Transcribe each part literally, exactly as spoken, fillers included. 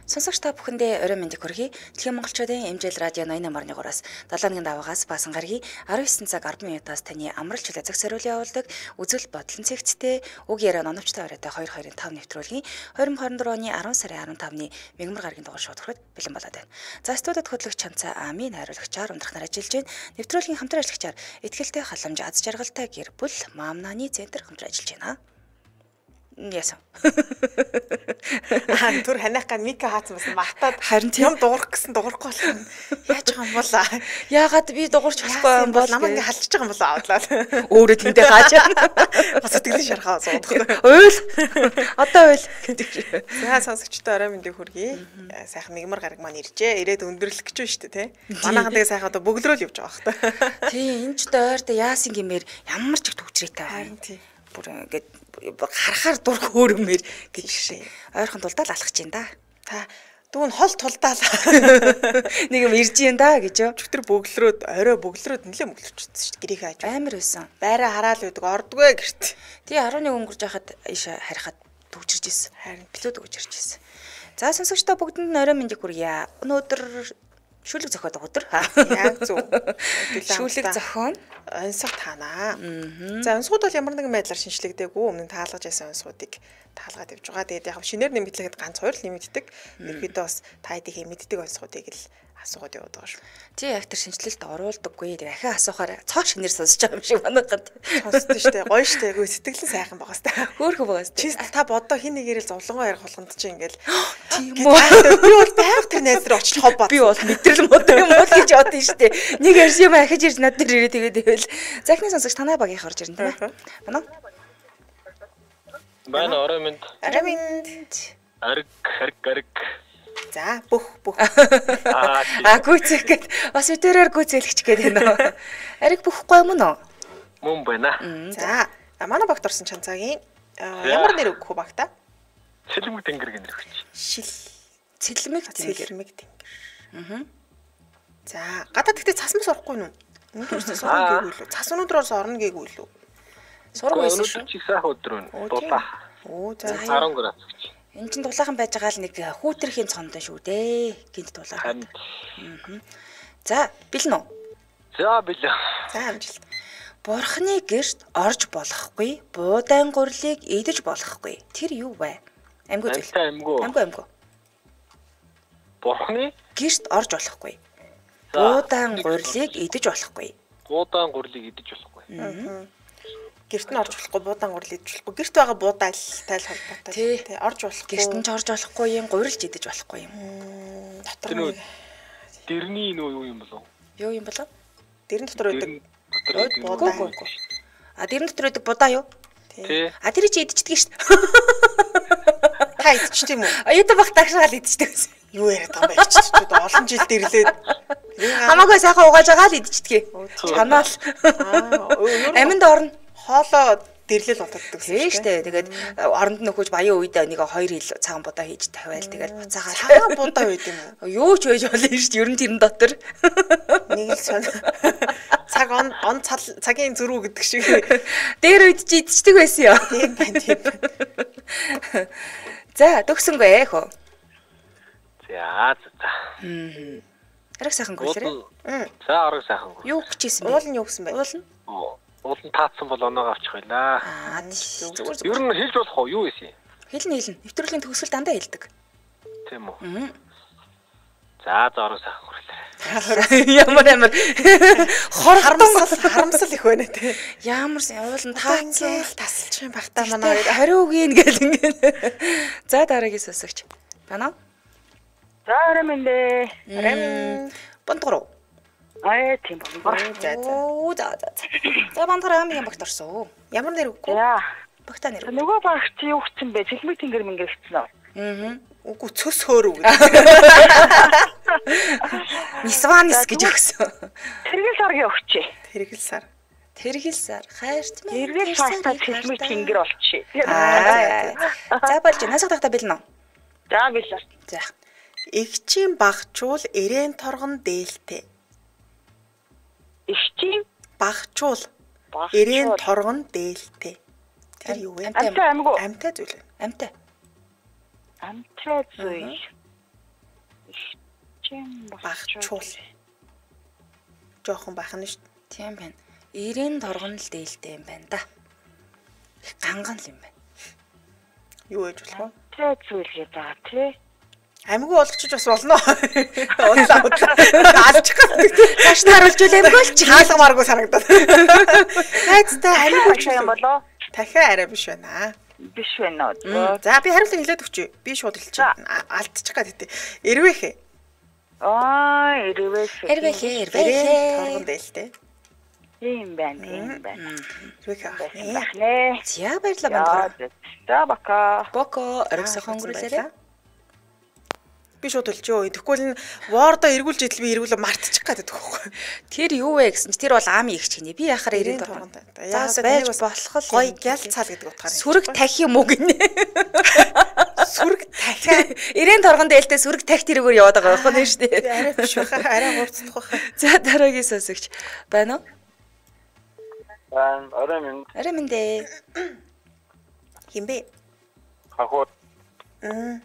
Сонсогч та бүхэндээ орой мэндийг хүргэе. Дэлхийн монголчуудын эмжил радио ноён номерныгоороос долооны даваагаас баасан гарагийн арван есөн цаг арван минутаас таны амралт чөлөө зах зориулын явуулдаг үзэл бодлон цэгцтэй үг яриа оновчтой оройтой хоёр хоёрын тав нэвтрүүлгийн двадцать двадцать оны арван сарын арван тавны мегмар гарагийн дугаар шууд хүрээд бэлэн болоод байна. За студид хөтлөгч Чанцаа Ами найруулагчаар ундрахнаар ажиллаж байна. Нэвтрүүлгийн хамтран ажиллагчаар Итгэлтэй халамж аз жаргалтай гэр бүл Мамнаны центр хамтран ажиллаж байна. Яасан. Аа түр ханах ган мика хаацсан байсан мартаад харин юм дуурах гэсэн дуурахгүй болох юм. Яаж байгаа юм бол яагаад би дуурч болохгүй юм бол намайг ингээ халдчихж байгаа юм болоо авдлаа. Өөрөө тэндээ хааж бас сэтгэлийн шархаа суудах. Уйл одоо уйл гэдэг. За сонсогчдоо орой мэндийг хүргэе. Сайхан мигмар гараг маань иржээ. Ирээд өндөрлөх гэж байна шүү дээ, тий. Манайхан тэгээ сайхан одоо бөглөрөөл явж байгаа хта. Тий, энэ ч дойрт яасан гэмээр ямар ч их төвчрээтэй харин тий. Бүр ингээд харахаар дур хөөрмөр гэж шээ. Ойрхон тулдаал алхаж чинь да. Та дүүн хол тулдаал. Нэг юм ирж юм да гэж юу. Чөтөр бөглөрөөд орой бөглөрөөд нэлээ бөглөрчихсөн шүү дээ. Гэрийг хааж. Амар байсан. Байраа хараал үүдэг ордгүй гэрт. Тий арван нэг өнгөрж яхад ийшээ харихад төвчрж ирсэн. Харин билүүд өгч ирж ирсэн. За сонсогчдоо бүгдэнд нь орой мэндийг хүргье. Өнөөдөр шүлэг зохиод өдөр. Яг зөв. Шүлэг зохион онцгой таанаа. За онцгод бол ямар нэгэн байдлаар шинжлэгдээгүй өмнө таалгаж байсан онцгодыг таалгаад явж байгаа. Тэгээд яг шинээр нэмэгдлэхэд ганц хоёр л нэмэгддэг. Ерөөдөө бас та хэдийн мэддэг онцгодыг л асуугаад яваад байгаа шүү. Тий яг тэр шинжилэлд оруулдаггүй. Тэгээ ахиа асуухаар цоо шинээр сонсож байгаа юм шиг манайхад. Сонсдоо штэ. Гоё штэ. Үгүй сэтгэлэн сайхан байгаа штэ. Хөөхөө байгаа штэ. Чи та бодоо хин нэгээрэл зовлонгоо ярих болгонд чи ингээл тийм үү. Би бол байг тэр найз руу очиж хов бат. Би бол мэдрэл модоо юм бол гэж бодсон штэ. Нэг ярьж юм ахиж ирж над дээр ирээ тэгээд ивэл. Захны сонсогч танай багийнх орж ирнэ тийм ээ. Манай. Байна орой минь. Орой минь. Арг арг арг. За бүх бүх. Аа гүцэх гээд бас үтэрээр гүцэлгч гээд байна. Ариг бүхгүй юм уу? Мөн байна. За манай багт орсон Чанцаагийн ямар нэр өгөх вэ багта? Сэлмэг тэнгэр гэнэ өгч. Шил. Цэлмэг тэнгэр. Цэлмэг тэнгэр. Аа. За гадаад гэхдээ цасмас орохгүй юу? Өнөөдөр цас орно гээгүү лүү? Цас өнөөдрөөс орно гээгүү лүү? Сураг байсан шүү. Өнөөдөр чи сайхан өдөр байна. Дулаа. Оо за арван градус гэж. Энд чинь дулаахан байж байгаа л нэг хүүтрхийн цондоо шүү дээ. Гинт дулаахан. Аа. За, бэлэн үү? За, бэлэн. За, амжилт. Бурхны гэрт орж болохгүй, буудаан гурлыг идэж болохгүй. Тэр юу вэ? Амьгүй зүйл. Амьгүй. Амьгүй амьгүй. Бурхны гэрт орж болохгүй. Буудаан гурлыг идэж болохгүй. Буудаан гурлыг идэж болохгүй. Аа. Гэрт нь орж болохгүй, буудаан гурил идэж болохгүй. Гэрт байгаа буудаал тайл холбоотой тий. Орж болохгүй. Гэрт нь ч орж болохгүй юм, гурилж идэж болохгүй юм. Дотор нь дэрний нөө юу юм болов? Юу юм болов? Дэрэн дотор байдаг. Буудаа. А дэрэн дотор байдаг будаа юу? Тий. А тэр чи идчихдэг шүү дээ. Та идчих тийм үү? Аюутай бах тагшаал идчихдэг гэсэн. Юу яриад байгаа юм бэ? Идчихчүүд олон жилд ирлээд. Хамаагүй сайхан угааж байгаа л идчихдэг. Чанаал. Аминд орно. Хоолоо дэрлэл унтаддаг тийм шүү дээ. Тэгээд оронд нөхөж баян үед нэг хоёр хил цагаан будаа хийж тавиал тэгээд буцаагаа цагаан будаа байд юм юу уу? ч байж болно шүү дээ. Ер нь тэрэн дотор нэг л сон цаг он он цагийн зөрүү гэдэг шиг дээр үед чи идчихдэг байсан ёо. Тийм байна тийм байна. За төгсөнгөө ээ хөө. За за. Хм. Ариг сайхан гүйлэрээ. За ариг сайхан гүйл. Юу гिचсэн бэ? Уул нь юу гэсэн бэ? Уул нь? Уул нь таацсан бол оноог авчих байлаа. Аа зүгээр зүгээр. Ер нь хэлж болох уу? Юу ийсэн? Хэлнэ хэлнэ. Нэвтрүүлгийн төгсгөл дандаа хэлдэг. Тийм үү? Аа. За за ариг сайхан гүйлэрээ. Ямар амар хор харамсал харамсал их байна те. Ямар уул нь таацсан тасалчих юм багтаа манай хариу гин гэл ингээд. За дараагийн сонсогч. Байна уу? За орой минь. Орой минь. Бантгороо. Аа тийм байна. За за за. За бантгороо амгийн багт орсон. Ямар нэр өгөх вэ? Яа. Багтаа нэр. Нөгөө багт юу гिचсэн бэ? Цэлмэг тэнгэр мингэр гिचсэн үү? Аа. Үгүй цөс хөөрөв. Нисванис гэж өгсөн. Тэргэл саргийн өгчээ. Тэргэл сар. Тэргэл сар. Хайрт минь. Тэргэл сартаа цэлмэг тэнгэр болчихъя. Аа. За болж насах тахта бэлэн үү? За бэлээ. За. Игчийн багчуул эрээн торгон дээлтэй. Игчийн багчуул эрээн торгон дээлтэй. Тэр юу вэ? Амтай амгүй. Амтай зүйл. Амтай. Амтай зүйл. Багчийн Багчуул. Жохон бахан нь шүү дээ. Тийм байна. Ирэн торгон л дээлтэй юм байна да. Их ганган л юм байна. Юу ээж болох вэ? Тэ зүйл гэж байгаа тий. Амьгүй болгочих бас болно. Удлаа удлаа. Алчих гэдэг. Цааш нь харуулж үл амьгүй л чи. Хаалгамааргүй санагдаад. Найзтай амьгүй ч юм болоо. Дахиад арай биш байна. Биш байна уу? За би хариултыг хэлээд өгчөө. Би шууд хэлчих. Алдчих гад хэвтэ. Эрвэхэ. Аа, эрвэхэ. Эрвэхэ, эрвэхэ. Торгон дээлтэй. Ийм байна, ийм байна. Эрвэхэ. Бахнэ. За баярлалаа бандгаа. За бака. Боко оргисохон өнгөрүүлээрэ. Би шууд хэлчихөө. Тэгвэл энэ вордо эргүүлж идэл би эргүүлээ мартчих гэдэг байхгүй. Тэр юу вэ гэсэн чи тэр бол ам игч гинэ. Би яхаар ирээд торгон. За байж болох л гоё гял цаал гэдэг утгаар. Сүрэг тахи юм уу гинэ. Сүрэг тахиа. Ирээн торгон дээлтэй сүрэг тахи тэрүүгээр яваад байгаа байхгүй нэ шүү дээ. Арай биш баха. Арай хурцдах баха. За дараагийн сонсогч байна уу? Аа, орой минь. Арай мэндэ. Химбэ? Хахууд. Мм.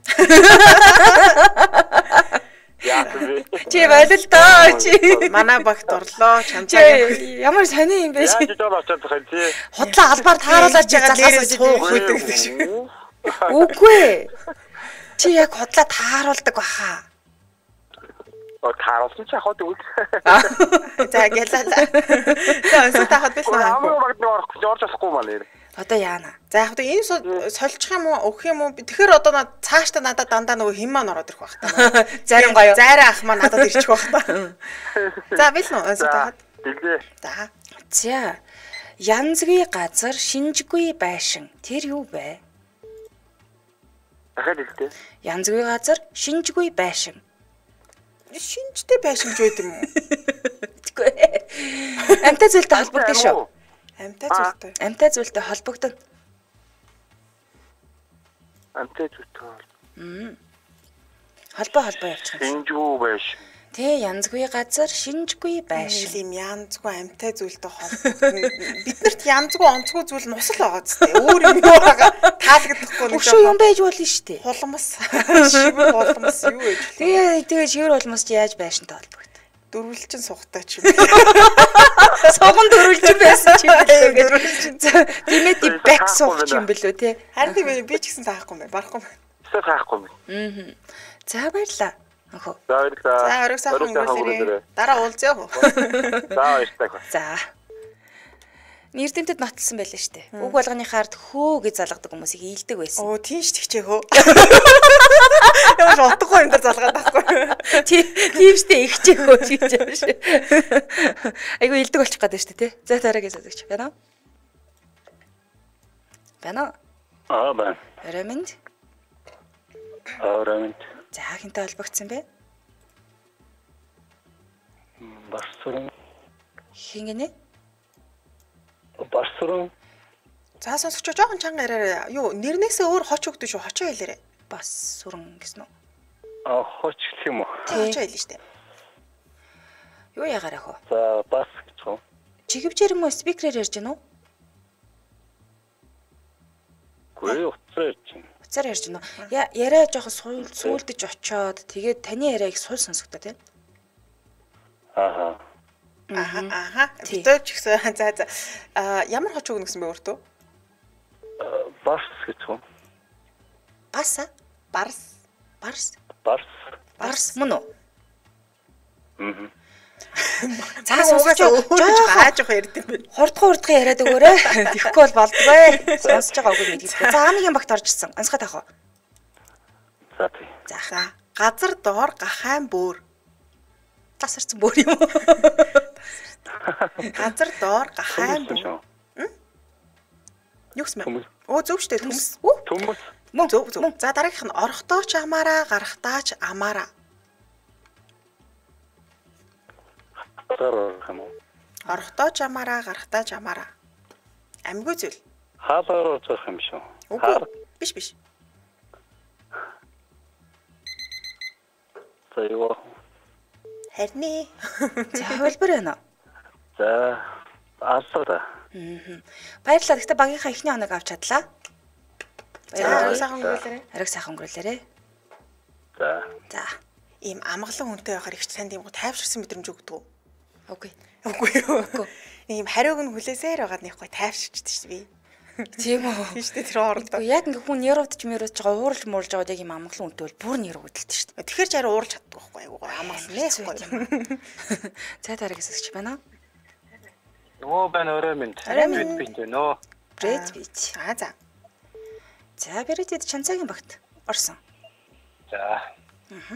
Яа бэ? Чи болол доо чи. Манай багт орлоо. Чи ямар сони юм бэ чи? Яаж доо очоод байгаа чи? Худлаа албаар тааруулаад чи залгаас суух гэдэг гэдэг шиг. Үгүй. Чи яг худлаа тааруулдаг баха. Оо тааруулсан чи хаад үгүй. За гэлээ. За өнсөд тахад биш наа. Амар багт орох гэж орж болохгүй маа нэр. Одоо яана. За яг энэ сольчих юм уу, өгөх юм уу? Тэгэхээр одоо цааштай надад дандаа нөгөө хим маань ороод ирэх байх та. Зарим гоё. Зайраа ах маань надад ирчих байх та. За бил нөө өнсөд тахад. Билээ. За. За. Янзгүй газар шинжгүй байшин. Тэр юу бэ? Дахиад хэлтээ. Янзгүй газар шинжгүй байшин. Шинжтэй байшин ч байд юм уу? Тэггүй. Амтай зүйлтэй холбогдсон шүү. Амтай зүйлтэй. Амтай зүйлтэй холбогдсон. Амтай зүтгөө. Мм. Холбоо холбоо явуучих юм. Шинжүү байш. Тэ янзгүй газар шинжгүй байшин. Ийм янзгүй амтай зүйлтэй холбогдно. Биднэрт янзгүй онцгүй зүйл нь ус л байгаа зү. Өөр юм юу байгаа таалагдахгүй нэг. Өшөө юм байж болно шүү дээ. Хулмас. Шивэр хулмас юу вэ? Тэгээ тэгээ шивэр хулмас чи яаж байшинтай холбогд? Дөрвөлжин сухтай ч юм. Согон дөрвөлжин байсан ч юм бэлээ. Дөрвөлжин. Тиймээ тий бак суух ч юм бэлөө те. Харин тийм би ч гэсэн таахгүй юм байна. Барахгүй юм. Эсвэл таахгүй юм. Аа. За баярлаа. Өхөө. За баярлалаа. За орой сайхан өнгөрүүлээрэй. Дараа уулзъя. За баярлалаа. За. Нэрдэнтэд нотолсон байлаа шүү дээ. Үг болгоныхаар хөө гэж залгадаг хүмүүсийг ийдэг байсан. Оо тийм ш тэгчээ хөө. Ямар ч утгагүй юм дээр залгаад байхгүй. Тийм штэ ихчээ хөө гэж юм шиг. Айгу ийдэг болчих гээд байна шүү дээ, тий. За дараагийн сонсогч байна уу? Байна уу? Аа байна. Раминд. Аа раминд. За хинтээ холбогдсон бэ? Барсуран. Хингэнэ? Барсуран. За сонсогч жоохон чанга яриараа. Юу нэрнээсээ өөр хоч өгдөө шүү. Хочоо хэлээрэй. Бас сүрэн гэсэн үү? Аа хоч гэх юм уу? Хочоо хэлнэ штэ. Юу ягараа хөө? За бас гэж юм. Чигэвчээр юм уу спикерээр ярьж гэнэ үү? Гүй утсаар ярьж байна. Утсаар ярьж гэнэ үү? Я яриа жоохон суул сүүлдэж очоод тэгээд таны яриаг суул сонсогдоо тий. Ааха. Аха аха. Битүүч гэсэн. За за. Аа ямар хоч өгнө гэсэн бэ өөртөө? Бас гэж юм. Баса? Барс. Барс. Барс. Барс мөн үү? Мм. За сонсож gaaj явах ярьд юм бэ. Хурдхан хурдхан яриад өгөөрэй. Тэхгүй бол болдгоо. Сонсож байгаа үгүй мэдээ. За амигийн багт орж ирсэн. Онцгой таах уу? За тий. За. Газар доор гахайн бөөр. Тасарсан бөөр юм уу? Газар доор гахайн бөөр. Юу гэсэн бэ? Оо зөв штэ төмс. Төмс. Мөн зөв зөв. За дараагийнх нь орохдоо ч амаараа, гарахтаа ч амаараа. Хараа юм уу? Орохдоо ч амаараа, гарахтаа ч амаараа. Амьгүй зүйл. Хаалгаар орж байгаа юм шүү. Үгүй. Биш биш. За юу? Харин. За хөлбөр байна уу? За алсаа. Аа. Баярлалаа. Гэхдээ багийнхаа эхний хоног авч чадлаа. За сайхан өнгөрүүлээрэй. Ариг сайхан өнгөрүүлээрэй. За. За. ийм амгалан хүнтэй байхаар их танд ийм тайвширсан мэдрэмж өгдөг үү? Үгүй. Үгүй юу. Ийм хариуг нь хүлээсээр байгаад нэг гой тайвширчдаг шүү дээ. Тийм үү. Тийм шүү дээ тэр хоорондоо. Яг ингээ хүн нэрвдж мөрөж байгаа уурж муурж байгаад яг ийм амгалан үнтэй бол бүр нэр өгдөлт шүү дээ. Тэгэхээр ч арай уурж чаддаг байхгүй юу? Амгалан нэх гоё. За дараагаас өгч байна. Нөө байна өрөө минь. Орой минь. Бит бит нөө. Брэд бич. Аа за. За Брэдэд чанцаагийн багт орсон. За.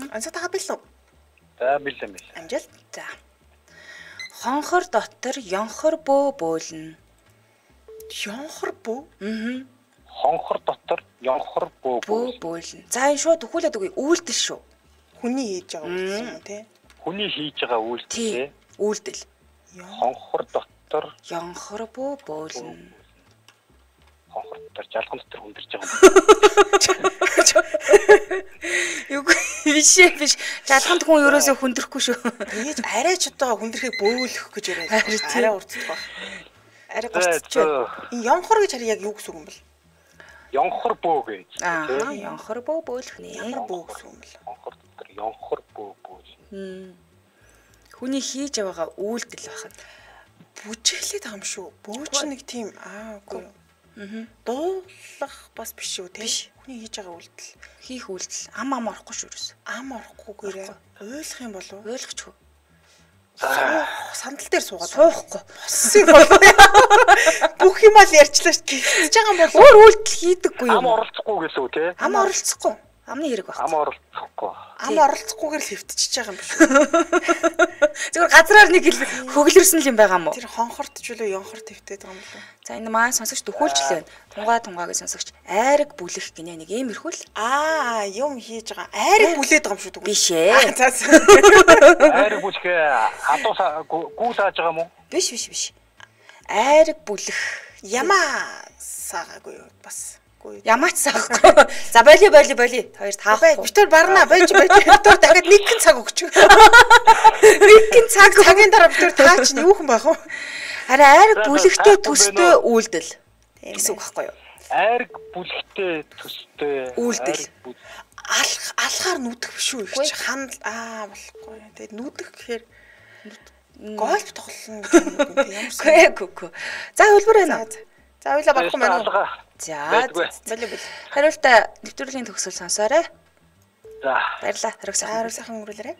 Ансаатаа билүү? За билээ билээ. Амжилт. За. Хонхор дотор ёнхор бөө бөөлнө. Ёнхор бөө? Аа. Хонхор дотор ёнхор бөө Бөө бөөлнө. За энэ шууд өгүүлээд үгүй үйлдэл шүү. Хүний хийж байгаа үйлдэл юм уу те? Хүний хийж байгаа үйлдэл. Тий. Үйлдэл. Хонхор дотор Ёнхор бөө бөөлнө. хонхор дотор жалган дотор хүндэрж байгаа Юу биш ээ биш. Жалганд хүн ерөөсөө хүндрэхгүй шүү. Тэгэж арай ч одоо хүндрэхийг бөөлөх гэж яриад Арай байгаа. тий. Арай урддаг баг. Арай юм. госч байна. Энэ ёнхор гэж хараа яг юу гэсэн үг юм бэл? Ёнхор бөө гэж. Аа, ёнхор бөө бөөлөх нэ. Ямар бөө гэсэн үг юм бэл? Хонхор дотор ёнхор бөө бөө. Хүний хийж байгаа үйлдэл байхад Бүжиглээд байгаа юм шүү. Бөөч нэг тийм аа үгүй. Аа. Дуулах бас биш үү те? Хүний хийж байгаа үйлдэл. хийх үйлдэл ам ам орохгүй шүү ерөөс. Ам орохгүйгээрээ ойлгох юм болов уу? Ойлгохгүй. Сандал дээр суугаад Суухгүй. боссын болов. Бүх юм ал ярьчлаа шүү. Гэж байгаа юм болов. Өөр үйлдэл хийдэггүй Ам юм. оролцохгүй гэлөө те. Ам оролцохгүй. Амны хэрэг баг. Ам оролцохгүй. Ам оролцохгүйгээр л хөвтчихэж байгаа юм биш үү? Зүгээр газраар нэг ил хөглөрсөн л юм байгаа мó. Тэр хонхорт ч үлээ ёнхор твтээд байгаа юм болов. За энэ маань сонсогч төхүүлжлээ. Тунгаа тунгаагийн сонсогч айраг бүлэх гинэ нэг иймэрхүү л. Аа, юм хийж байгаа. Айрыг бүлээд байгаа юм шүү дээ. Биш ээ. За за. Айраг бүлхээ хадуу гүү сааж байгаа мó? Биш биш биш. Айраг бүлэх. Ямаа саагаагүй юу бас. Ямаач саахгүй. За боли боли боли. Хоёр таахгүй. Битэр барна байж байж. Битэр дахиад нэг хэн цаг өгч. Нэг хэн цаг цагийн дараа битэр таа чинь юу хэн байх вэ? Харин айраг бүлэгтэй төстэй үйлдэл гэсэн үг байхгүй юу? Айраг бүлхтэй төстэй Үйлдэл. Алх алхаар нүдэх биш үү их чи ханд аа болохгүй. Тэгээд нүдэх гэхээр гольф тоглоно гэх юм уу ямар Гүй гүй гүй. За хөлбөр байна. За ойлаа барахгүй маань уу? За болоо болоо. хариултаа нэвтрүүлгийн төгсөл сонсоорой. За. Баярлалаа. Хариуг сайхан. Хариу сайхан өнгөрүүлээрэй.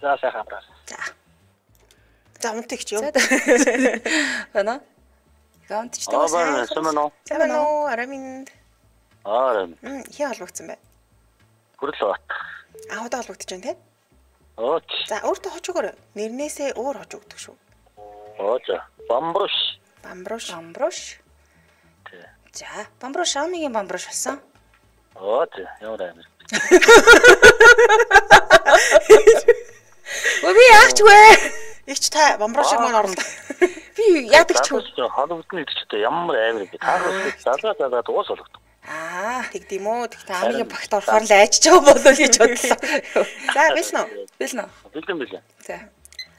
За сайхан амраа. За. За унтыг ч юм. Байна. Гаунт ч Аа таа. байна сумано. Сайн уу? Араминд. Аа. Мм, хий холбогдсон бай. Хүрэл бат. Аа удаа холбогдож байна те? Ооч. За өөртөө хож өгөөрэй. Нэрнээсээ өөр хож өгдөг шүү. Ооч. Бамбруш. Бамбруш. Бамбруш. За, бамбруш амигийн бамбруш болсон. Ооч. Ямар амир. Өө би яахчгүй. Игч та бамбрушиг маань орлоо. Би яадаг ч хөө. Холбогдно гэдэг чинь ямар амир бэ? Таарах залгаа залгаа дуус болгох. Аа, тэгдэм үү? Тэг Та амигийн багт орохоор л айчж байгаа болов уу гэж бодлоо. За, биш нөө. Бэл нөө. Бэлэн бэлэн. За.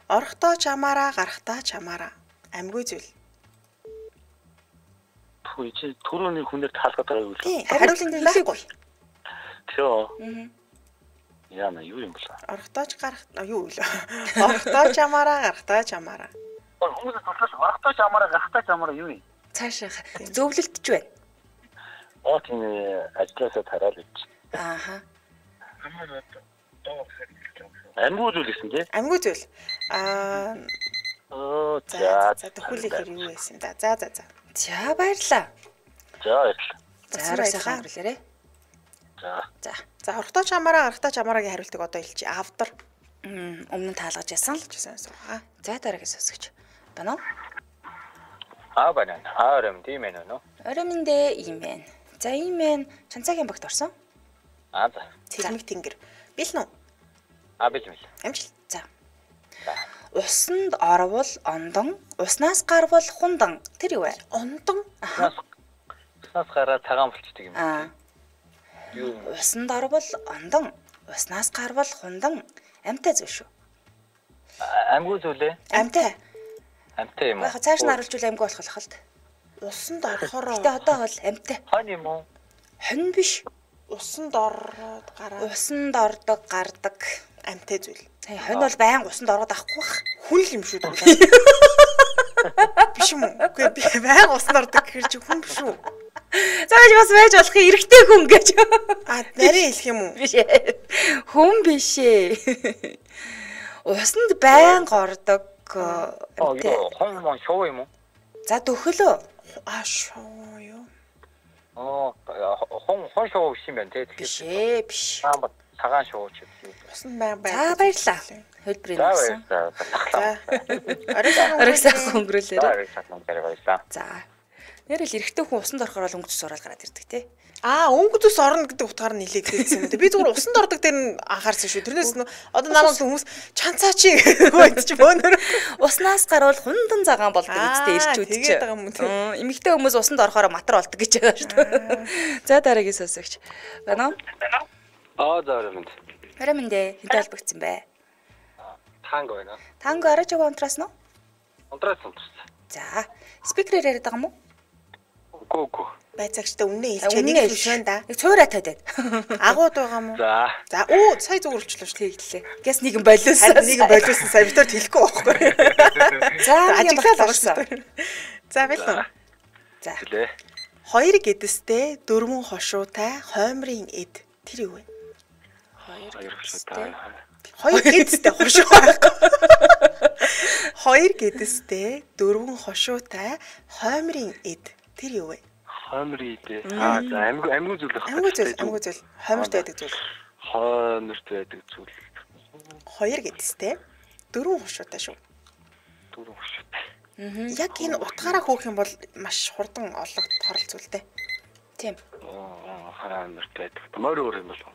Орохдоо чамаараа, гарахтаа чамаараа. Амьгүй зүйл. Хүй чи түрүүний хүнээр таалгаад байгаа юу? Тий, хариулт байхгүй. Тё. Яна юу юм бэ? Орохдоо ч гарах юу вэ? Орохдоо чамаараа, гарахтаа чамаараа. Хүмүүс туслаж орохдоо чамаараа, гарахтаа чамаараа юу юм? Цаашаа зөвлөлтж байна. Оо тийм ажлаасаа тараал гэж. Ааха. Амьгүй зүйл гэсэн тий? Амьгүй зүйл. Аа, Оо за, за. за төхүүлэх хэрэг юу байсан да. За, за, за. За баярлаа. За баярлалаа. За хариуг сайхан өнгөрүүлээрэй. За. За. За, орохдоо чамаараа, гарахтаа чамаарагийн хариултыг одоо хэлчихье. Автар. Мм, өмнө нь таалгаж ясан л. Гэсэн суугаа. За дараагийн сонсогч. Байна уу? Аа байна. Аа юм тийм ээ нөө. Орой минь дээ ийм байна. За ийм байна. Чанцаагийн багт орсон. Аа за. Цэлмэг тэнгэр. Бил нүү? Аа бил бил. Амжилт. За. Усанд орвол ондон, уснаас гарвал хундан. Тэр юу вэ? Ондон. Уснаас гараа цагаан болчдөг юм. Аа. Юу? Усанд орвол ондон, уснаас гарвал хундан. Амтай зүйл шүү. Амьгүй зүйлээ. Амтай. Амтай юм уу? Яг цааш нь харуулж үл амгүй болох л хальт. Усанд орохороо. Гэтэ одоо бол амтай. Хон юм уу? Хонь биш. Усанд ороод гараа. Усанд ордог, гардаг. Амтай зүйл. Хань хонь бол байн усанд ороод авахгүй бах. Хүн л юм шүү дээ. Биш юм уу? Үгүй би байн усанд ордог гэхэр чи хүн биш үү? Зааж бас байж болох эрэгтэй хүн гэж. А нарийн хэлэх юм уу? Биш ээ. Хүн биш ээ. Усанд байн ордог. 어, 이거 홈 쇼 юм уу? За дөхөлөө. А шоо юу? 어, 홈 홈쇼 시면 돼. Биш ээ, биш. 한번 사간 쇼 칩시. Усан байн байн. За баярлаа. Хөлбөрийн өгсөн. За, За. Орой Орой сайхан өнгөрүүлээрэй. орой сайхан өнгөрүүлээрэй. За. Нэрэл эрэгтэй хүн усанд орохоор бол өнгөц сураад гараад ирдэг те. Аа, өнгөдөс орно гэдэг утгаар нь нилээдсэн юм даа. Би зүгээр усанд ордог дээр нь анхаарсан шүү. Тэрнээс нь одоо намайг хүмүүс чанцаа чи гэдэг чи бөөнөр. Уснаас гарвал хундан цагаан болдог гэдэгтэй ирчүүд чи. Тэгээд байгаа юм уу? Эмэгтэй хүмүүс усанд орохоор матар болдог гэж байгаа шүү дээ. За дараагийн сонсогч. Байна уу? 아, 자, 그러면 Харамэндэ хинтэ холбогдсон бай. танго байна. Танго арай жоо унтраас нь. Унтрас унтрас. За. Спикерээр яриад байгаа юм уу? Үгүй үгүй. Байцаагчтай үнэ хэлчихээ нэг л биш байна да. Нэг цуураа тавиад. Агууд байгаа юм уу? За. За, оо, сая зүгөрлчлөө шүү. Тэглээ. Гэс нэг юм болиосон. Харин нэг юм болиосон сая битэр хэлэхгүй байхгүй. За, ажиглал орсон. За, байлаа. За. гэлээ. Хоёр гэдэстэй дөрвөн хошуутай хоймрын эд. Тэр юу вэ? Хоёр хөшөөтэй. Хоёр гэдэстэй хошуу байхгүй. Хоёр гэдэстэй дөрвөн хошуутай хоймрын эд. Тэр юу вэ? хоймрийдээ. Аа, за, амьг амьг зүйл байх. Амгүй зүйл, амгүй зүйл. Хоймрт байдаг зүйл. Хоймрт байдаг зүйл. Хоёр гэдэстэй дөрвөн хошуутай шүү. Дөрвөн хөшөөтэй. Яг энэ утгаараа хөөх юм бол маш хурдан олох хорол зүйлтэй. Тийм. Аа, хоймрт байдаг. Морь өөр юм болов.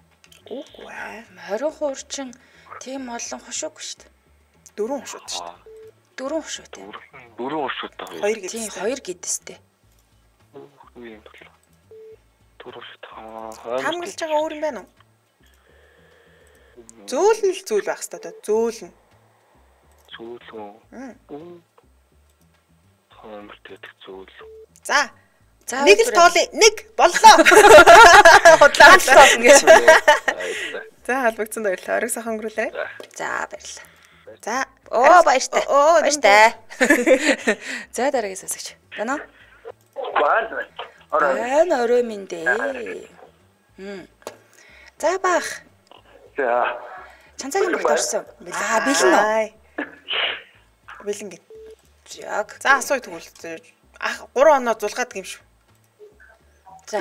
Үгүй ээ. Хорин хуурчин тийм олон хошуугүй шүү дээ. Дөрвөн хошуутай шүү. Дөрвөн хошуутай. Дөрвөн хөшөөтэй. Хоёр Тийм, гэдэстэй. хоёр гэдэстэй. юм болов. Дөрвөн хөшөөтэй. Хамгаалж байгаа өөр юм байна уу? Зөөлн л зүйл байх хэрэгтэй доо. Зөөлн. зүйл үү? Хоймрт байдаг зүйл. За. За. Нэг л тоолъё. Нэг боллоо. Худлаа тоолно гэж. За, халбагцсан баярлалаа. Орой сайхан өнгөрүүлээрэй. За баярлалаа. За. Оо баяртай. Оо баяртай. За дараагийн сонсогч. Байна уу? Байна. Байна орой минь дээ. Хм. За баах. За. Чанцаагийн бүгд орсон. Аа бэлэн үү? Бэлэн гээ. Яг. За асууя тэгвэл. Ах гурван оноо зулгаад гэм шүү. За.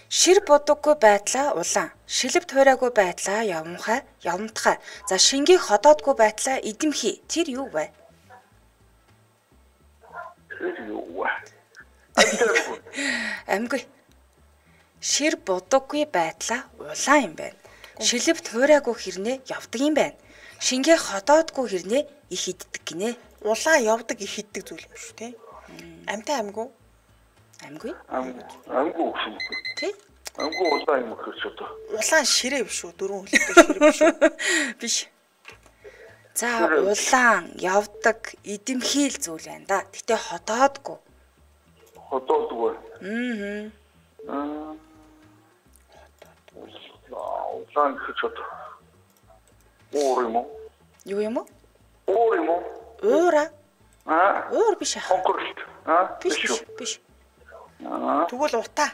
Шир будаггүй байдлаа улаан, шилэв туурайгүй байдлаа явмхай, явмтхай. За шингийг ходоодгүй байдлаа эдэмхий. Тэр юу вэ? юу вэ? Амгүй. Шир будаггүй байдлаа улаан юм байна. Шилэв туурайгүй хэрнээ явдаг юм байна. Шингээ ходоодгүй хэрнээ их иддэг гинэ. Улаан явдаг их иддэг зүйл юм шүү те. Амтай амгүй. Амгүй. Амгүй гэсэн үг. Тий? Амгүй улаан юм гэж одоо. Улаан ширээ биш үү? Дөрвөн хөлтэй ширээ биш үү? Биш. За улаан явдаг эдэмхийл зүйл байна да. Гэтэ ходоодгүй. Ходоодгүй. Аа. Улаан гэж одоо. Өөр юм уу? Юу юм уу? Өөр юм уу? Уура. Аа. Уур биш аа. Конкурс. Аа. Биш биш биш. Аа. Тэгвэл утаа.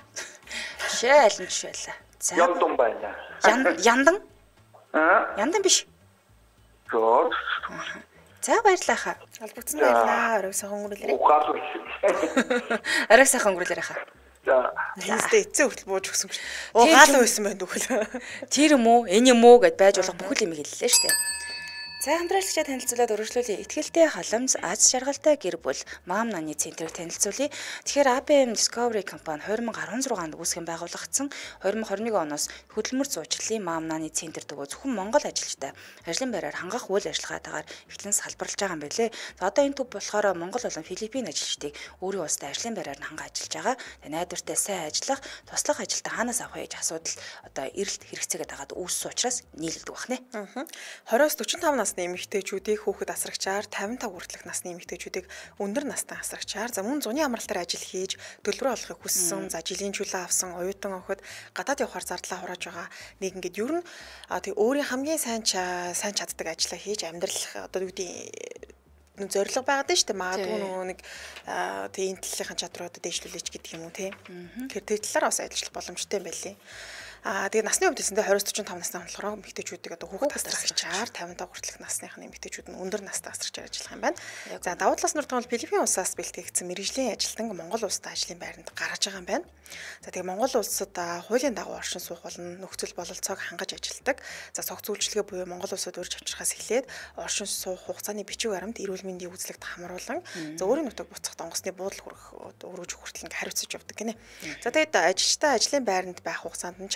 Шээ аль нь биш байлаа. За. Яндан байна. Ян яндан? Аа. Яндан биш. Гоо. За баярлалаа хаа. Албагцсан байлаа. Орой сайхан өнгөрүүлээрэй. Ухаалж. Арай сайхан өнгөрүүлээрэй хаа. За. Тэстэй эцээ хүртэл бууж өгсөн гэж. Оо гаалаа байсан байна дөхөл. Тэр юм уу? Энэ юм уу гэд байж болох бүхэл юм хэллээ шүү дээ. За хамтраалагчаа танилцуулаад өргөжлүүлье. Итгэлтэй халамж аз жаргалтай гэр бүл Мам Наны центрийг танилцуулъя. Тэгэхээр а бэ эм Discovery компани две тысячи десять онд үүсгэн байгуулагдсан две тысячи двадцать один оноос хөдөлмөр зуучлалын Мам Наны центр дөгөө зөвхөн Монгол ажилчтай ажлын байраар хангах үйл ажиллагаатаагаар эхлэн салбарлаж байгаа юм билээ. За одоо энэ төв болохоор Монгол болон Филиппин ажилчдыг өөрийн улстай ажлын байраар нь хангаж ажиллаж байгаа. Тэгээ найдвартай сайн ажиллах, туслах ажилтаа хаанаас авах гэж асуудал одоо эрэлт хэрэгцээгээд байгаад үүссэн учраас нийлэлдэг бахнэ. Аа. двадцать-аас forty-five нас насны эмэгтэйчүүдийг хүүхэд асрагчаар тавин тав хүртэлх насны эмэгтэйчүүдийг өндөр настай асрагчаар за мөн зуны амралт дээр ажил хийж төлбөрөө олохыг хүссэн за жилийн чөлөө авсан оюутан охид гадаад явахаар зардлаа хурааж байгаа нэг ингээд ер нь тэг өөрийн хамгийн сайн сайн чаддаг ажлаа хийж амьдрал одоо юу гэдэг зорилго байгаад нь шүү дээ магадгүй нөгөө нэг тэг энэ талынхаа чадруудад дэвшлүүлээч гэдэг юм уу тийм тэр тэр талаар бас ажиллах боломжтой юм байли. Аа тэгээ насны хувьд гэсэндээ двадцать45 насны болохоор эмэгтэйчүүдийг одоо хүүхэд асрагчаар тавин тав хүртэлх насных нь эмэгтэйчүүд нь өндөр настай асрагчаар ажиллах юм байна. За давуу талаас нь бол Филиппин улсаас бэлтгэгдсэн мэргэжлийн ажилтан Монгол улсад ажлын байранд гаргаж байгаа юм байна. За тэгээ Монгол улсад хуулийн дагуу оршин суух болон нөхцөл бололцоог хангаж ажилтдаг. За цог зөвлөлтөө буюу Монгол улсад урьж авчрахаас эхлээд оршин суух хугацааны бичиг баримт эрүүл мэндийн үзлэгт хамруулан за өөрийн нутаг буцах донгосны буудал хүрэх өргөж хүртэл ингээ хариуцаж явдаг гинэ. За тэгээд ажилчтай ажлын байранд байх хугацаанд нь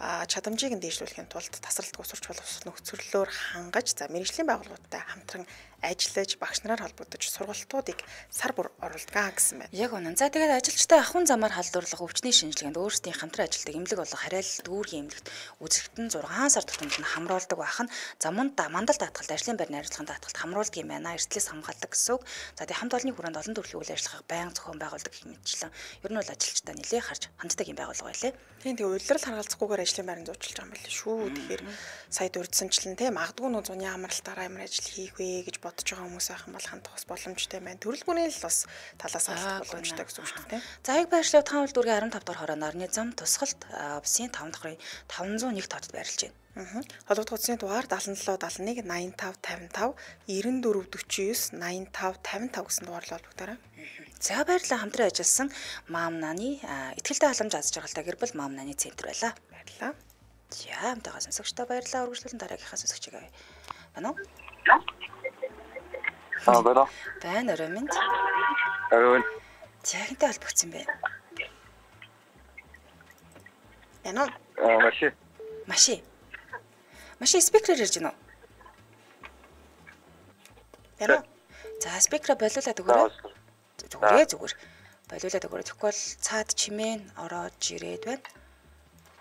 чадамжийг нь дээшлүүлэхийн тулд тасралт усурч боловсрол нөхцөлөөр хангаж за мэргэжлийн байгууллагуудтай хамтран ажиллаж багш нараар холбогдож сургалтуудыг сар бүр оруулдаг гэсэн байна. Яг үнэн. За тэгээд ажилчтай ахуйн замаар халдварлага өвчний шинжилгээнд өөрсдийн хамтран ажилладаг эмнэлэг болон харьяалал дүүргийн эмнэлэгт үзэгдэн зургаан сар тутамд нь хамруулдаг бахан замунд мандал даатгалд ажлын байрны харилцааны даатгалд хамруулдаг юм байна. Эрсдлээс хамгаалдаг гэсэн үг. За тэгээд хамт олонний хүрээнд олон төрлийн үйл ажиллагааг байнга зохион байгуулдаг гэх мэтчлэн ер нь бол ажилчтай нэлээ харж ханддаг юм байгууллага байлээ. Тийм тэгээд улирал харгалзахгүйгээр ажлын байранд зуучлаж байгаа юм байна шүү. Тэгэхээр сая дурдсанчлан тийм магадгүй нөө зуны амралтаараа ямар ажил хийх вэ гэж бодож байгаа хүмүүс байх юм бол хандах бас боломжтой байна. Төрөлбүний л бас талаас алдах боломжтой гэсэн үг шүү дээ. За яг байршлав таван дүүргийн арван тав дахь хороо нарны зам тусгалт Обсын таван дахь таван зуун нэг тодод байрлаж байна. Холбогдох утасны дугаар дагалан долоо дагалан нэг найман тав тавин тав девяносто четыре forty-nine найман тав тавин тав гэсэн дугаарлал холбогдорой. За баярлалаа хамтран ажилласан Мам Наны ихтгэлтэй халамж аз жаргалтай гэр бүл Мам Наны центр байлаа. Баярлалаа. За хамтаа сонсогчдоо баярлалаа. Үргэлжлүүлэн дараагийнхаа сонсогчийг авъя. Байна уу? Аа байна. Байна орой минь. Орой. Захинтай холбогдсон бэ. Яна. Аа маши. Маши. Маши спикерээр ирж байна уу? Яна. За спикераа болиулаад өгөөрэй. Зүгээр зүгээр. Болиулаад өгөөрэй. Тэгэхгүй бол цаад чимээн ороод ирээд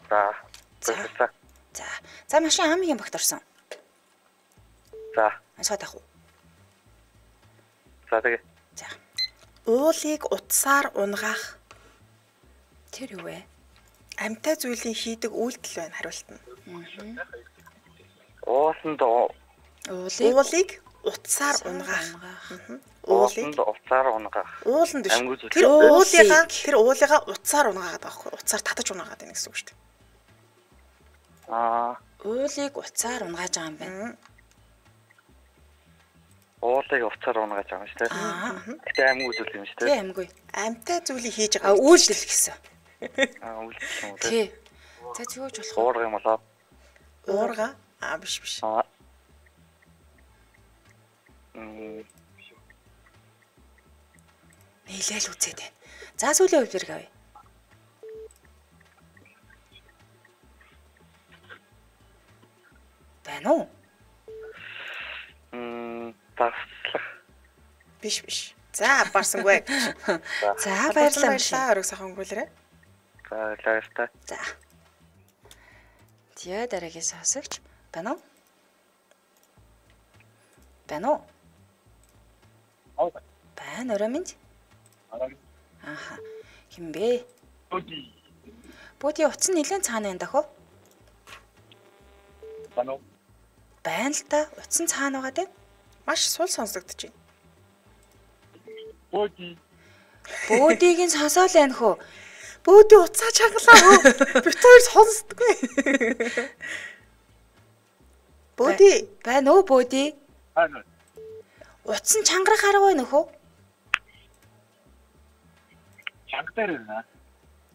байна. За. За. За машин хамгийн багт орсон. За. Асууд ах уу? За тэгээ. За. Уулыг утсаар унгаах. Тэр юу вэ? Амьтай зүйлийн хийдэг үйлдэл байна хариулт нь. Ууланд уулыг уулыг утсаар унгаах. ууланд утсаар унгаах. Ууланд биш. Тэр уулыгаа тэр уулыгаа утсаар унгаагаад байгаа хгүй. Утсаар татаж унгаагаад байна гэсэн үг шүү дээ. Аа. Уулыг утсаар унгааж байгаа юм байна. Уулыг утсаар унгааж байгаа юм шүү дээ. Гэтэ аймаг үзүүл юм шүү дээ. Тий аймаггүй. Амьтай зүйлийг хийж байгаа. А үйлдэл гэсэн. Аа үйлдэл юм уу? Тий. За зөөж болох. Уурга юм болоо. Уурга? Аа биш биш. Аа. Мм. Нийлээл үзээд байна. За сүүлийн хувьд хэрэг авъя. Байна уу? Мм, таслах. Биш биш. За барсангүй. За баярлалаа. Орог сайхан өнгөрүүлээрэй. За баярлалаа. За. Тэгээ дараагийн сонсогч байна уу? Байна уу? Байна орой минь. Аха. Хин бэ? Боди. Боди утас нь нэлээд цаана байна дах уу? Байна уу? Байна л та. Утас нь цаана байгаа дээ. Маш сул сонсогдож байна. Боди. Бодиг нь сонсоол байна хөө. Боди утсаа чангалаа хөө. Бид хоёр сонсдоггүй. Боди. Байна уу боди? Байна. Утас нь чангарах арга байна хөө. Чангатаар байна.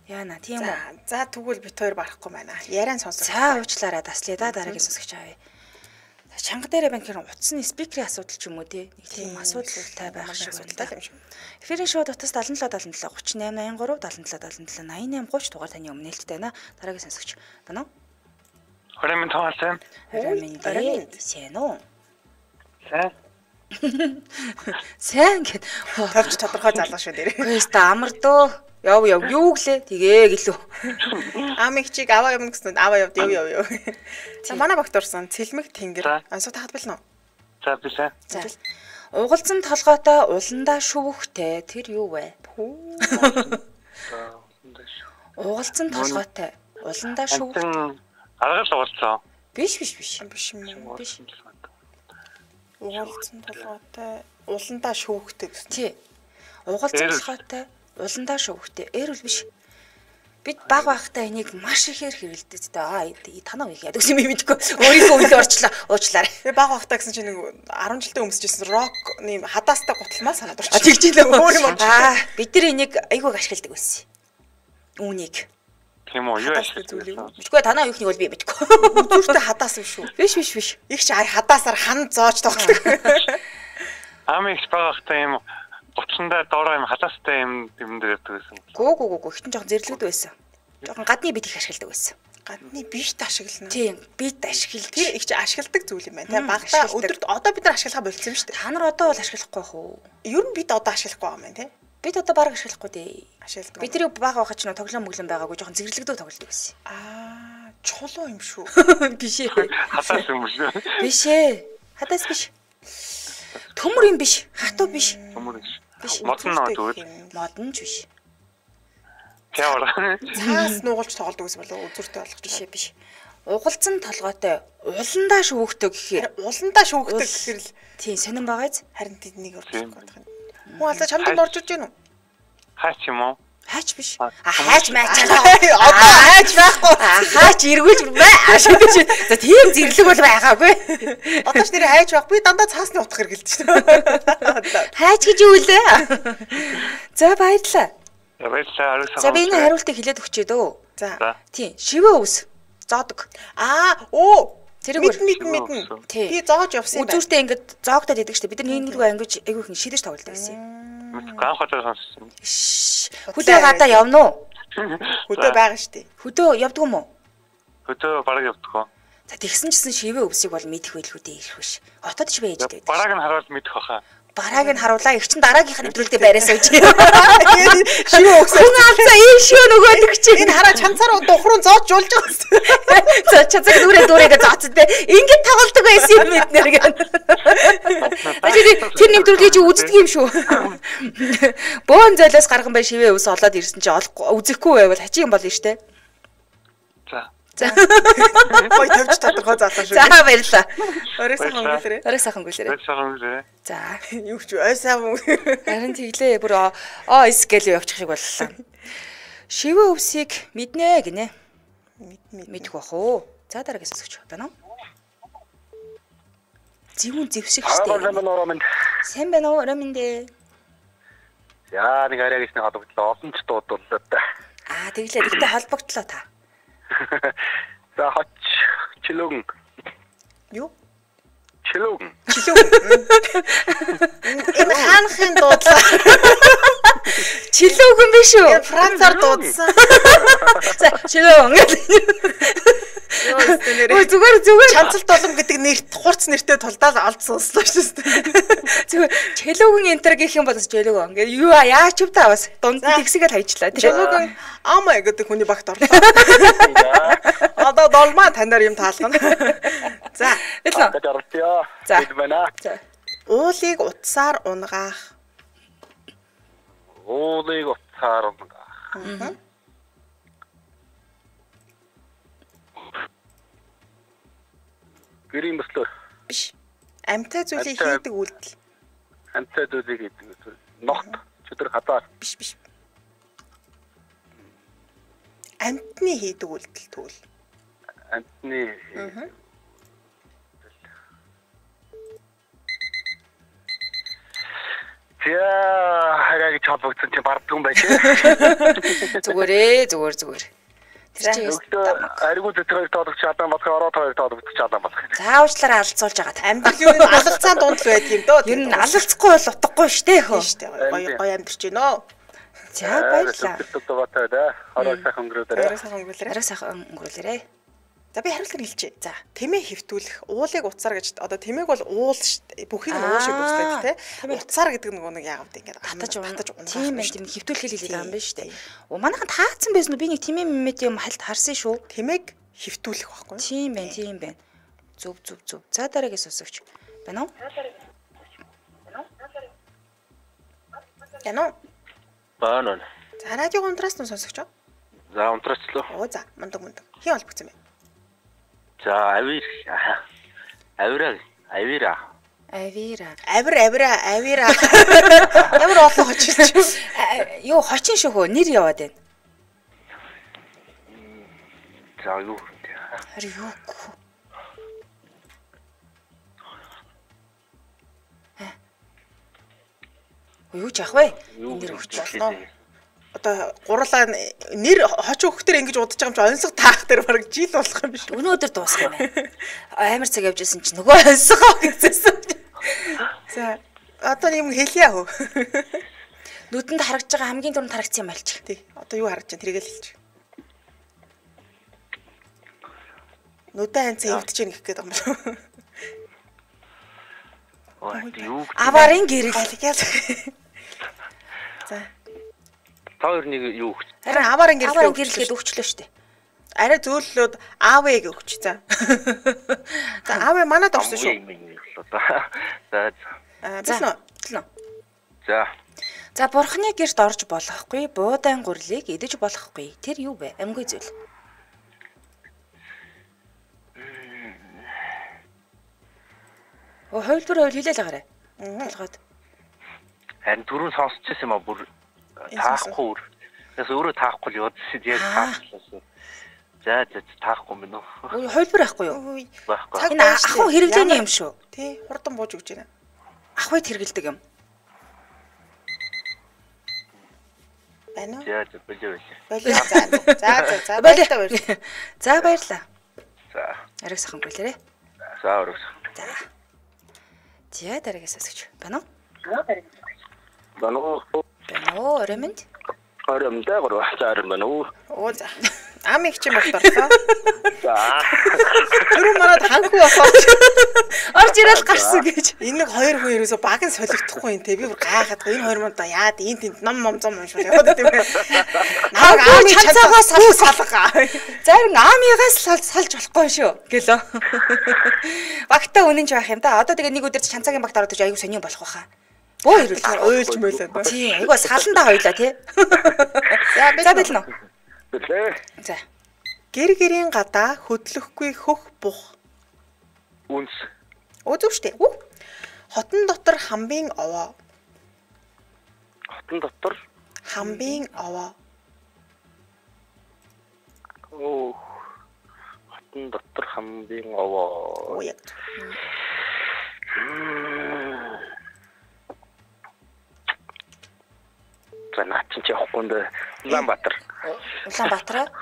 Яана тийм үү. За тэгвэл бид хоёр барахгүй байна. Яриан сонсох. За уучлаарай таслая да дараагийн сонсогч авъя. Чанга дээрээ байна гэхээр утасны спикерийн асуудал ч юм уу тий. Нэг тийм асуудалтай байх шиг байна юм шиг. Эфирийн шууд утас seven seven seven seven three eight eight three seven seven seven eight eight thirty дугаар таны өмнөлттэй байна. Дараагийн сонсогч байна уу? Хөрөмн тоолсон. Хөрөмн сайн уу? Сайн. Сайн гэд тавч тодорхой залгаа шүү дээр. Гэхдээ амар дөө. Яв яв юу гэлээ тэгээ гэлөө. Амиг чиг аваа юм гэсэн аваа явд яв яв яв. За манай багт орсон цэлмэг тэнгэр. Ансуу тахад билнэ үү? За бишээ. За. Угалзан толгойтой уландаа шүвхтэй тэр юу вэ? Угалзан толгойтой уландаа шүвх. Аргал угалцсан. Биш биш биш. Биш юм уу? Биш. Угалзан толгойтой уландаа шүүхтэй гэсэн. Тий. Угалзан толгойтой уландаа шүүхтэй. Эрүүл биш. Бид баг багтаа энийг маш ихээр хэрэлдэж дээ. Аа танаа их яадаг юм мэдгүй. Өөрийнхөө үйл орчлоо. Уучлаарай. Би баг багтаа гэсэн чинь нэг арван жилдээ өмсөжсэн рок нэм хадаастай гуталмаа санаад А орчих. тэгж илээ өөр юм. Аа бид нар энийг айгууг ашигладаг байсан. Үүнийг. Тийм үү? Юу ашиглаж? Мэдгүй танаа юухныг бол би мэдгүй. Зүртэй хадаас юм шүү. Биш биш биш. Их ч хадаасаар хан зоож тоглодог. Амигч багахтай юм гутландаа доороо юм халаастай юм юм дээр ярьдаг байсан. Гүү гүү гүү ихтэн жоохон зэрлэгд байсан. Жоохон гадны бид их ашигладаг байсан. Гадны бишт ашиглана. Тийм, бид ашиглаж. Тэр их ч ашигладаг зүйл юм байна. Тэ багтаа өдөрт одоо бид нар ашиглахаа болчихсон юм шүү дээ. Та нар одоо бол ашиглахгүй бах уу? Ер нь бид одоо ашиглахгүй байгаа юм байна, тэ? Бид одоо бараг ашиглахгүй дээ. Ашигладаг. Бид тэрийг баг байхад ч нөө тоглоом мөглөн байгаагүй жоохон зэрлэгдөө тоглодог байсан. Аа, чулуу юм шүү. Биш ээ. Хатаас юм шүү. Биш ээ. Хадаас биш. Төмөр юм биш. Хатуу биш. Төмөр биш. Биш. Модон нөө тэгвэл. Модон ч биш. Тэвэр. Цаас нуугалж тоглодог гэсэн болов үзүүртэй болгож Биш ээ биш. Угалзан толгойтой уландаа шүүхтэй гэхээр уландаа шүүхдэг гэхэр л тийм сонирн байгааз харин тэднийг орчих гээд байна. Хүн алдаа чамд орж иж гэнэ үү? Хаач юм уу? хайч биш. А хайч майчаа. Одоо хайч байхгүй. Хайч эргүүлж бай. Ашигч. За тийм зэрлэг бол байгаагүй. Одоо ч нэр хайч байх. Би дандаа цаасны утга хэргэлдэж байна. Хайч гэж юу лээ? За баярлалаа. Баярлалаа. За би энэ хариултыг хэлээд өгчээ дөө. За. Тийм, шивээ ус. Зоодог. Аа, оо. Тэрийг мэд мэд мэднэ. Би зоож явсан юм байна. Үзүүртэй ингээд зоогдоод идэг штэ. Бид нар нэг нэггүй ангиж айгүй их шидэж тоглолдог гэсэн юм. Гаан хотоос сонссон. Хөдөө гадаа явна уу? Хөдөө байгаа штэ. Хөдөө явдаг юм уу? Хөдөө бараг явдаг хөө. За тэгсэн чсэн шивээ өвсийг бол мэдэх байлгүй дээ ирэх биш. Хотод ч байж дээ. Барааг нь харуул мэдэх баха. Барааг нь харуулаа. Их чин дараагийнх нь нэвтрүүлдэ байраас үуч. Шивээ өвсөө. Хүн алзаа ийм шивээ нөгөөдөг чи. Энэ хараа чанцаараа духруу зоож жуулж байгаа. За чацаг нүрээ дүүрээгээ зооцсон те. Ингээд тоглолдог байсан юм бид нэр гэн. Тэр нэвтрүүлгийг чи үздэг юм шүү. Бөөн золиос гарган бай шивээ өвс олоод ирсэн чи үзэхгүй байвал хачи юм болно штэ. За. За. Гой тавьж тодорхой заалаа шүү. За баярлаа. Орой сайхан өнгөлөрөө. Орой сайхан өнгөлөрөө. Орой сайхан өнгөлөрөө. За. Юу ч ой сайхан. Харин тэглээ бүр оо скелөө явчих шиг боллоо. Шивээ өвсийг мэднэ гинэ. Мэд мэдэх бах уу. За дараагаас өсөж байна уу? Зүүн зэвсэг штэ. Сайн байна уу? Ромин дээ. Яа нэг арай гэж нэг холбогдлоо. Олон ч дуудууллаа да. Аа тэглээ. Тэгтээ холбогдлоо та. За хоч чилүүгэн. Юу? Чилүүгэн. Чилүүгэн. Энэ хаанхын дуудлаа. Чилүүгэн биш үү? Францаар дуудсан. За чилүүгэн. Ой зүгээр зүгээр Чанцалт болом гэдэг нэрт хурц нэртэй тулдаал олдсон сонслоо шүү дээ. Зүгээр чилүүгэн энтер гэх юм бол чилүүгэн. Ингээ юу яач юм та бас дунд тэгсгээд хайчлаа. Чилүүгэн амаа гэдэг хүний багт орлоо. Одоо долмаа танаар юм таалгана. За. Хэлнэ. За. За. Уулыг утсаар унгаах. Уулыг утсаар унгаах. Гэрийн бөслөө. Биш. Амьтаа зүйлийг хийдэг үйлдэл. Амьтаа зүйлийг хийдэг үйлдэл. Ногт чөтөр хадаар. Биш биш. Амьтны хийдэг үйлдэл тэгвэл. Амьтны. Яа, хараагийн чалбагцсан чи бардгүй байж. Зүгээрээ, зүгээр зүгээр. Тэр чинь аригуу дэтгэж тоодогч чадан болох ороо тоодогч тоодогч чадан болох. Заавчлаараа алцуулж байгаа. Амьд юу алалцаан дунд л байдаг юм дөө. Ер нь алалцахгүй бол утгагүй штэ хөө. Штэ гоё гоё амьдэрч гинөө. За баярлаа. Ороо сайхан өнгөрөөдөө. Орой сайхан өнгөрөөлөө. Орой сайхан өнгөрөөлөө. За би хариултыг хэлчихье. За, тэмээ хэвтүүлэх, уулыг уцаар гэж одоо тэмээг бол уул бүхийг нь уул шиг үздэг тий. Уцаар гэдэг нөгөө нэг яагаад ингэж хатаж хатаж тийм ээ тийм хэвтүүлэх хэлээд байгаа юм байна шүү дээ. Оо манайхан таацсан байсан уу? Би нэг тэмээ мэмэд юм хальт харсан шүү. Тэмээг хэвтүүлэх байхгүй. Тийм байна, тийм байна. Зүв зүв зүв. За дараагаас өсөвч. Байна уу? Яно. Баанаа. За радио унтраас нь сонсогч. За унтраачлаа. Оо за, мундаг мундаг. Хин олбогцсон бэ? За авир. Авира, авира. Авира. Авир авира авира. Ямар олон хочиж. Юу хочин шүү хөө нэр яваад байна. За юу. Хари юу. Юу ч ах вэ? Нэр өгч болно. Одоо гурлаа нэр хочин хөхтөр ингэж удаж байгаа юм чи онцлог таах дээр бараг жил болох юм биш. Өнөөдөр дуусах юм байна. Амар цаг явж исэн чи нөгөө онцгоо гэжсэн. За одоо юм хэлье хөө. Нүдэнд харагдж байгаа хамгийн түрүүнд харагдсан юм альч. Тий. Одоо юу харагдаж байна тэрийг л хэлчих. Нүдэн ханцаа эвдэж ийн гэх гээд байгаа юм байна. Ой юу. Аварын гэрэл. За. Тоор нэг юу. Харин аварын гэрэл. Аварын гэрлгээд өгчлөө штэ. Арай зөөллөөд аавыг өгч за. За аав манад орсон шүү. За. За. За. За бурхны гэрт орж болохгүй, буудаан гурлыг идэж болохгүй. Тэр юу вэ? Амьгүй зүйл. Оо хойлбор хойл хэлээл агаарай. Толгойд. Харин түрүүн сонсч байсан юм а бүр таахгүй. Тэгээс өөрөө таахгүй л явдсан яг таачлаа. За за таахгүй юм уу? Ой хойлбор байхгүй юу? Байхгүй. Энэ ахуй хэрэглээний юм шүү. Тий, хурдан бууж өгч байна. Ахуйд хэрэгэлдэг юм. Байна уу? За за болоо болоо. Болоо за. За за за баярлалаа. За баярлалаа. За. Ариг сахан болоорой. За өрөөс. За. За дараагаас асууж. Байна уу? Байна уу? Байна уу? Оромонд? Оромонд гурав цаарм байна уу? Оо за. Ам их ч юм болторлоо. За. Түрүү манад ханхуу болоод орж ирэл гарсан гэж. Энэ нэг хоёр хүн ерөөсө баг нь солигдохгүй юм те. Би бүр гайхаад энэ хоёр манд яад энэ тэнд ном ном зам уншвал яваад тийм ээ. Наа аамын чанцаагаас салга. Зарим аамигаас салж болохгүй шүү гэлөө. Багтаа үнэнч байх юм да. Одоо тэгээ нэг өдөр чанцаагийн багт ороод иж аягүй сонио болох байхаа. Бөө ирүүл уйлж мөлөө. Тий, айгуу саландаа хоёлаа тий. За бэлэн үү? Бэлээ. За. Гэр гэрийн гадаа хөдлөхгүй хөх бух. Үнс. Үзв штэ. Хотон дотор хамбын овоо. Хотон дотор хамбын овоо. Оо. Хотон дотор хамбын овоо. Оо яг. Начин ч явахгүй нэ Улаанбаатар. Улаанбаатар.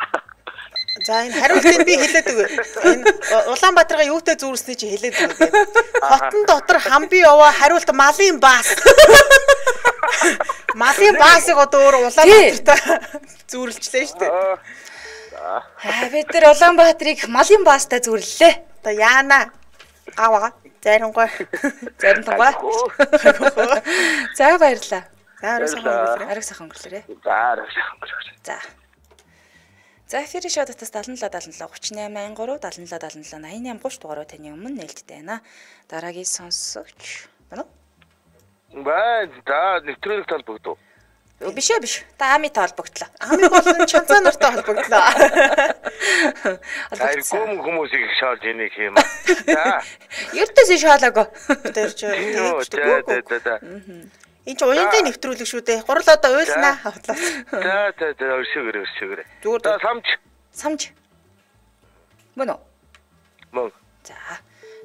За энэ хариултыг би хэлээд өгье. Энэ Улаанбаатарга юутай зүүрсний чи хэлээд өгье. Хотон дотор хамбын овоо хариулт малын баас. Малын баасыг одоо өөр Улаанбаатартай зүүрлжлээ шүү дээ. Аа бид нар Улаанбаатарыг малын баастай зүүрлэлээ. Одоо яана гаваа заримгой заримтугай. За баярлаа. За арай сайхан өнгөрөөрэй. Арай сайхан өнгөрөөрэй. За арай сайхан өнгөрөөрэй. За. За эфирийн шоудатас seven seven seven three eight three seven seven seven eight eight eight дугаараар таны өмнө нээлттэй байна. Дараагийн сонсогч байна уу? Баа, за нэвтрүүлэг толбогдов. Биш ээ биш. Та ами толбогдлоо. Ами болон чанцаа нартай холбогдлоо. Ай гүм хүмүүсийг шаалж яних юм. За. Ертөөс шаалаагүй. Тэр чи за за за. Энд чи уянгийн нэвтрүүлэг шүү дээ. Гурал одоо уйлнаа. За за за өршөөгөр өршөөгөр. Зүгээр за самж. Самж. Мөн үү? Мөн. За.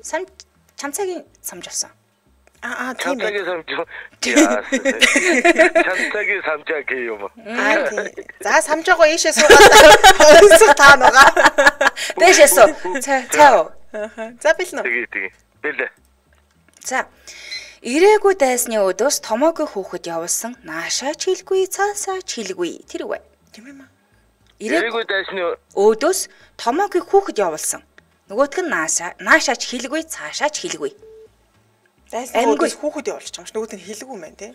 Самж чанцаагийн самж авсан. Аа тийм байна. Чанцаагийн самж. Чанцаагийн самжаа гэх юм. Аа тийм. За самжаагаа ийшээ суугаад онцгой таана байгаа. Дэшээ суу. Цаа цаа. За бэлнэ. Тэгээ тэгээ. Бэлээ. За. Ирээгүй дайсны өдөөс томоогүй хүүхэд явуулсан наашаа чилгүй цаасаа чилгүй тэр үгүй. Тийм юм аа. Ирээгүй дайсны өөдөөс томоогийн хүүхэд явуулсан. Нөгөөтг нь наашаа наашаач хилгүй цаашаач хилгүй. Дайсны өөдөөс хүүхэд явуулж байгаа юм ш. Нөгөөт нь хилгүй мэн тий.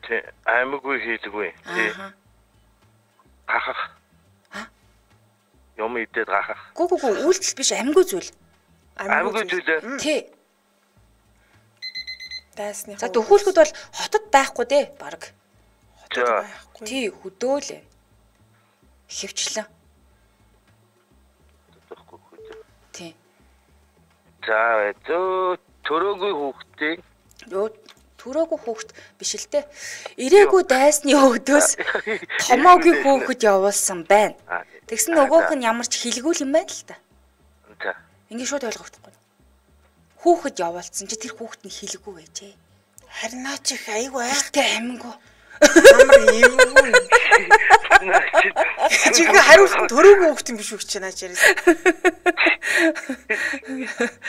Тий аймаггүй хилгүй. Тий. Гахах. А? Юм идээд гахах. Гү гү гү үйлдэл биш амьгүй зүйл. Аймаггүй зүйл. Тий. Дайсны. За төхөөлөхөд бол хотод байхгүй дээ баг. Хотод байхгүй. Тий хөдөөл. Хөвчлэн. Тий. За зөө төрөөгүй хүүхдээ. Йоо төрөөгүй хүүхэд биш л дээ. Ирээгүй дайсны өөдөөс томоогийн хүүхэд явуулсан байна. Тэгсэн нөгөөх нь ямар ч хилгүүл юм байна л та. За. Ингээ шууд ойлгохгүй. Хүүхэд явуулсан чи тэр хүүхэд нь хилгүү байжээ. Харин наа чи айгүй айхтай амингүй. Амар эвгүй. Чи гээ хариулсан төрөөгүй хүүхэд юм биш үү чи наа чирээс.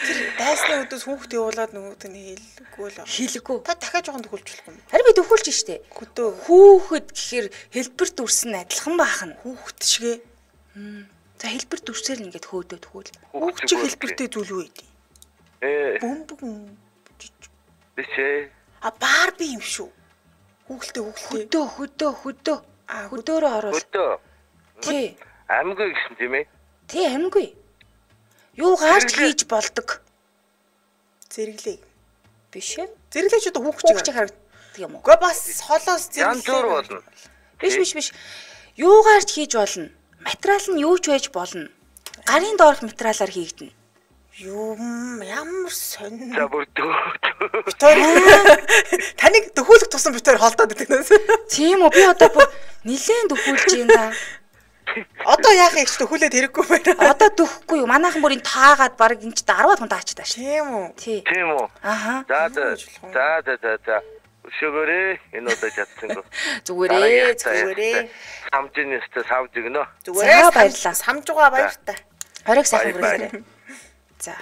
Тэр дайсны өдөөс хүүхэд явуулаад нөгөөд нь хэлгүй л. Хилгүү. Та дахиад жоохон төхүүлж болохгүй юм. Харин би төхүүлж штэ. Хөдөө. Хүүхэд гэхээр хэлбэр дүрсэн адилхан баахна. Хүүхэд шигээ. За хэлбэр дүрсээр нь ингээд хөөдөө төхүүл. Хүүхэд чи хэлбэртэй зүйл үү дээ. Ээ. Бөмбөг. Бишээ. А Барби юм шүү. Хүүхэлтэй хүүхэлтэй. Хөдөө хөдөө хөдөө. А хөдөөрөө оруул. Хөдөө. Тий. Амьгүй гэсэн тийм ээ. Тий амьгүй. Юу гаарч хийж болдог. Зэрэглээ. Биш ээ. Зэрэглээч одоо хүүхч харагддаг юм уу? Гэхдээ бас холоос Янз бүр болно. Биш биш биш. Юу гаарч хийж болно. Материал нь юу ч байж болно. Гарын доорх материалаар хийгдэнэ. Юм ямар сонь. За бүрдөө. Битээр таныг төхөөлөх тусам битээр холдоод байдаг нээс. Тийм үү би одоо бүр нилээн төхүүлж юм да. Одоо яах юм ч төхүүлээд хэрэггүй байна. Одоо төхөхгүй юу? Манайхан бүр энэ таагаад баг энэ ч дөрвөн хүн таачдаг ш. Тийм үү? Тий. Тийм үү? Аха. За за за за за. Шүгээрээ энэ удаа чадсангүй. Зүгээрээ зүгээрээ. Самжин өстө савж өгнө. Зүгээрээ баярлалаа. Самж байгаа баяртай. Хориг сайхан хүрээлээ. За.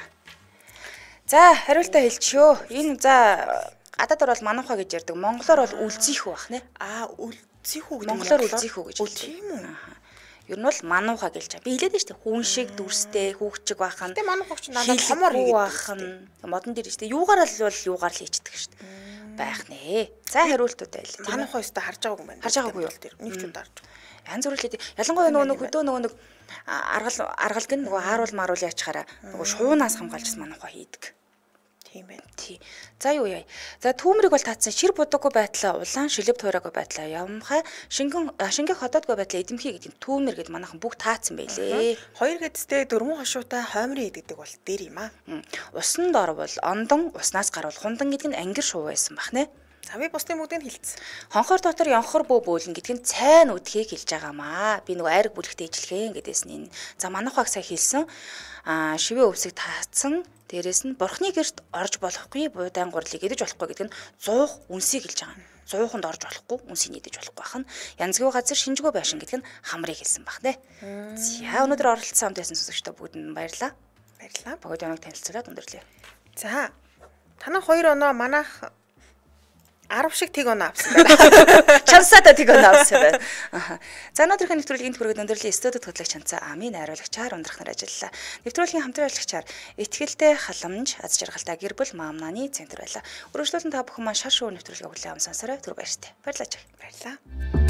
За, хариултаа хэлчихё. Энэ за гадаад орол мануухаа гэж ярьдаг. Монголоор бол үлзийхүү бах нэ. Аа, үлзийхүү гэдэг. Монголоор үлзийхүү гэж хэлдэг. Тийм үү? Ер нь бол мануухаа гэлж байгаа. Би хэлээд нь шүү дээ. Хүн шиг дүрстэй, хүүхчиг бахан. Тэгээ мануухаа ч надад хомор бахан. Модон дээр шүү дээ. Юугаар л бол юугаар л хийчихдэг шүү дээ. Байх нэ. За, хариултуудаа хэлээ. Мануухаа өстө харж байгаагүй юм байна. Харж байгаагүй юу? Тэр нэг ч удаа харж. Янз бүр л хэлээ. Ялангуяа нөгөө хөдөө нөгөө нэг аргал аргалг нь нөгөө хааруул маруул яачаараа нөгөө шуунаас хамгаалж мануухаа хийдэг. Тийм байна. Тий. За юу яа. За түүмрийг бол таацсан шир будаггүй байдлаа улаан шилэв туураагүй байдлаа ямхаа шингэн шингэх ходоодгүй байдлаа эдэмхий гэдэг түүмэр гэд манайхан бүх таацсан байлээ. Хоёр гэдэстэй дөрвөн хошуутай хоймрын идэгдэг бол дээр юм аа. Усан дор бол ондон уснаас гарвал хундан гэдэг нь ангир шуу байсан бах нэ. За би бусдын бүгдийг хэлсэн. Хонхор дотор ёнхор бөө бөөлн гэдэг нь цайн үдхийг хэлж байгаамаа. Би нөгөө айраг бүлэгтэй ижилхэн гэдээс нь. За манайхаг сая хэлсэн. Аа шивээ өвсөг таацсан. Дээрээс нь бурхны гэрт орж болохгүй буудаан гурлыг идэж болохгүй гэдэг нь зуух үнсийг хэлж байгаа. Зууханд орж болохгүй үнсийг идэж болохгүй бахан. Янзгүй газар шинжгүй байшин гэдэг нь хамрыг хэлсэн бах нэ. За өнөөдөр оролцсон хамт байсан сонсогчдоо бүгдэнд баярлалаа. Баярлалаа. Богд оног танилцуулаад өндөрлөө. За танаа хоёр оноо манайх арав шиг тэг оноо авсан байна. Чансаата тэг оноо авсан байна. За өнөөдрийн нэвтрүүлгийн төгрөгөд өндөрлөлийн студид хөтлөгч Чанцаа амийн найруулагчаар ундрахнаар ажиллалаа. Нэвтрүүлгийн хамтран ажиллагчаар Итгэлтэй халамж аз жаргалтай гэр бүл маамнаны центр байлаа. Өргөжлөлтөнд та бүхэн маань шар шуу нэвтрүүлгээ хүлээн авсан сарай түр баяртай. Баярлалаа. Баярлалаа.